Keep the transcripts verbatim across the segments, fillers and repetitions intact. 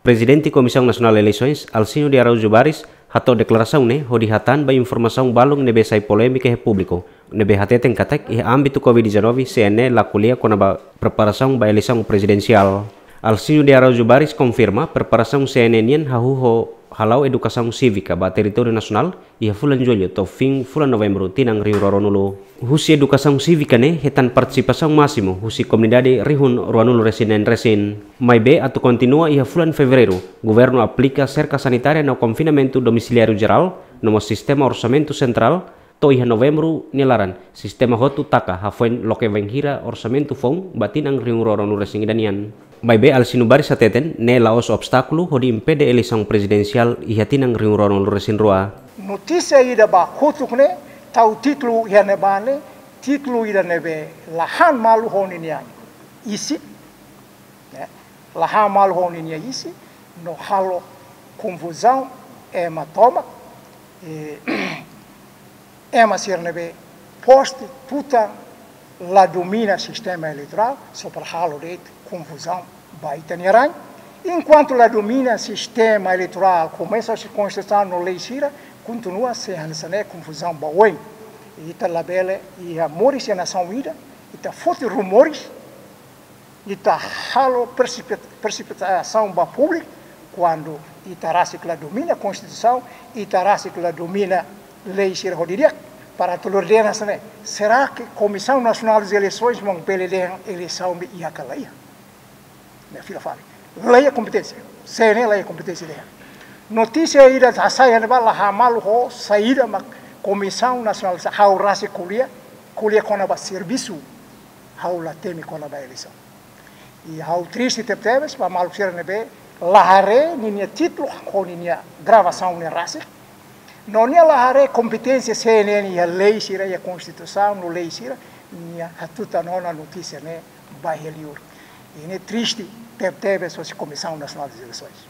Prezidente Komisaun Nasionál Eleisoens, Alcino de Araújo Baris, hato'o deklarasaun ne'e hodi hatán ba informasaun balun ne'ebé sai polémika iha públiku, ne'ebé hateten katak iha ámbitu covid dezanove, C N E la ko'alia kona-ba preparasaun ba eleisaun prezidensiál. Alcino de Araújo Baris konfirma preparasaun C N E nian hahú ho hala'o edukasaun sívika ba territóriu nasionál iha fulan Jullu to'o fin fulan Novembru tinan rihun rua ruanulu. Husi edukasaun sívika ne'e hetan partisipasaun másimu husi komunidade rihun ruanulu resin neen resin. Maibé atu kontinua iha fulan Fevereiru, governu aplika serka sanitária no konfinamentu domisiliáriu jerál, no mós sistema orsamentu sentrál, to'o iha Novembru nia laran, sistema hotu taka hafoin loke bainhira orsamentu foun ba tinan rihun rua ruanulu resin ida nian. Maibé Alcino Baris hateten, ne'e la'ós obstákulu hodi impede eleisaun prezidensiál iha tinan rihun rua ruanulu resin rua. Notísia ida ba kotuk ne'e, tau títulu iha ne'ebá ne'e, títulu ida ne'ebé la han malu ho ninia isin, ne'e, la han malu ho ninia isin, no halo konfuzaun ema tomak, eh, ema sira ne'ebé postu tutan la domina sistema eleitorál, só para halo de'it konfuzaun ba ita-nia rain. Enkuantu la domina sistema eleitorál, komesa husi konstituisaun no lei sira, kontinua sei hanesan ne'e konfuzaun ba oin. Ita labele iha moris iha nasaun ida, ita foti rumores, ita halo presipit-, presipitasaun ba públiku, kuandu ita rasik la domina konstituisaun, ita rasik la domina lei sira ho didi'ak, para atu ordena hanesan ne'e. Será que Comissão Nacional das Eleições mak bele dehan eleisaun ne'e iha ka la iha? Ne'e fila fali. La iha kompeténsia. C N E la iha kompeténsia dehan. Notísia ida hasai iha ne'ebá la han malu ho saida mak Komisaun Nasionál, ha'u rasik ko'alia, ko'alia kona-ba servisu, ha'u la temi kona-ba eleisaun. I ha'u triste tebetebes ba maluk sira ne'ebé la haree ninia títulu ho ninia gravasaun ne'e rasik. No nia la haree kompeténsia C N E iha lei sira, iha konstituisaun no lei sira, nia hatutan ona notísia ne'e ba iha liur. I ne'e triste tebetebes husi Komisaun Nasionál das Eleições.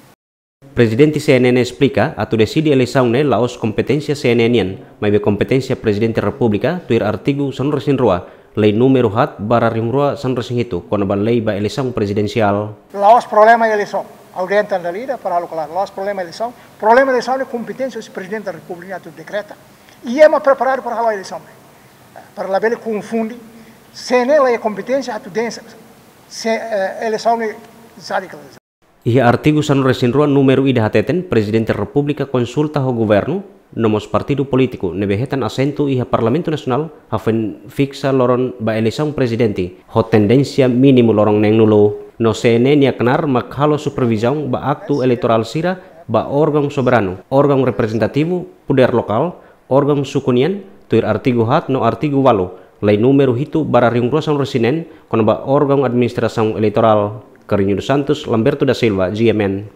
Prezidente C N E ne'e esplika, atu deside eleisaun ne'e la'ós kompeténsia C N E nian, maibé kompeténsia Prezidente Repúblika, tuir artigu sanulu resin rua, lei númeru haat barra rihun rua sanulu resin hitu, kona-ba lei ba eleisaun prezidensiál. La'ós problema eleisaun, ha'u dehan tan dala ida, para halo klaru, la'ós problema eleisaun, problema eleisaun ne'e kompeténsia husi Prezidente Repúblika atu dekreta. I ema preparadu para halo eleisaun. Para labele konfunde, C N E la iha kompeténsia atu dehan se, eh, eleisaun ne'e jadi kala. Iha artigu sanulu resin rua númeru ida hateten, Prezidente Repúblika konsulta ho governu, no mós partidu polítiku ne'ebé hetan asentu iha Parlamentu Nasionál, hafoin fiksa loron ba eleisaun prezidente, ho tendénsia mínimu loron neenulu. No C N E nia knaar mak halo supervizaun ba aktu eleitorál sira ba órgaun soberanu, órgaun reprezentativu, podér lokál, órgaun suku nian, tuir artigu haat no artigu ualu, lei númeru hitu barra rihun rua sanulu resin neen, kona-ba órgaun administrasaun eleitorál. Carlinho dos Santos, Lamberto da Silva, G M N.